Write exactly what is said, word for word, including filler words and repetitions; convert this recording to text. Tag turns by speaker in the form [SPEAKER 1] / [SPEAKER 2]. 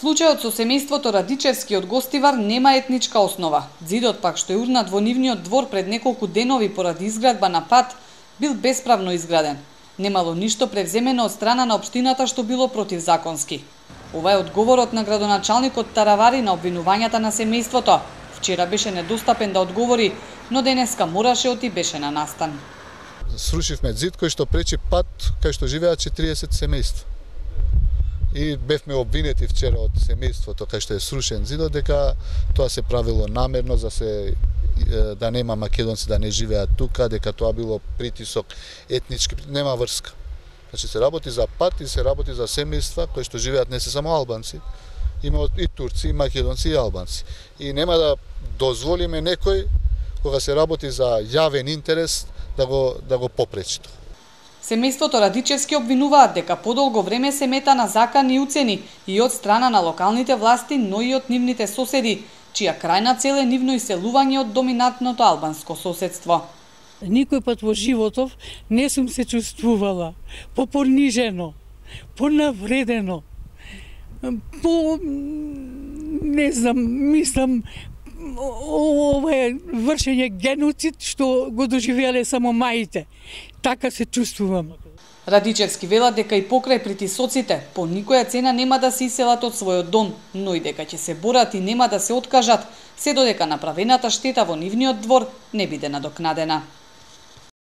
[SPEAKER 1] Случајот со семејството Радичевски од Гостивар нема етничка основа. Ѕидот пак што е урнат во нивниот двор пред неколку денови поради изградба на пат бил бесправно изграден. Немало ништо превземено од страна на општината што било противзаконски. Ова е одговорот на градоначалникот Таравари на обвинувањата на семејството. Вчера беше недостапен да одговори, но денеска мораше оти беше на настан.
[SPEAKER 2] Срушивме ѕид кој што пречи пат кај што живеат четириесет семејства. И бевме обвинети вчера од семејството кај што е срушен ѕидот дека тоа се правило намерно за се да нема македонци да не живеат тука, дека тоа било притисок етнички, нема врска. Значи се работи за пат и се работи за семејства кои што живеат не се само албанци, има и турци, и македонци, и албанци. И нема да дозволиме некој кога се работи за јавен интерес да го да го попречи тоа.
[SPEAKER 1] Семејството Радичевски обвинуваат дека подолго време се мета на закани уцени и од страна на локалните власти, но и од нивните соседи, чија крајна цел е нивно иселување од доминантното албанско соседство.
[SPEAKER 3] Никој пат во животов не сум се чувствувала попонижено, понавредено, по не знам, мислам ова е вршење геноцид што го доживеале само маите. Така се чувствувам.
[SPEAKER 1] Радичевски велат дека и покрај притисоците по никоја цена нема да се иселат од својот дом, но и дека ќе се борат и нема да се откажат, се додека направената штета во нивниот двор не биде надокнадена.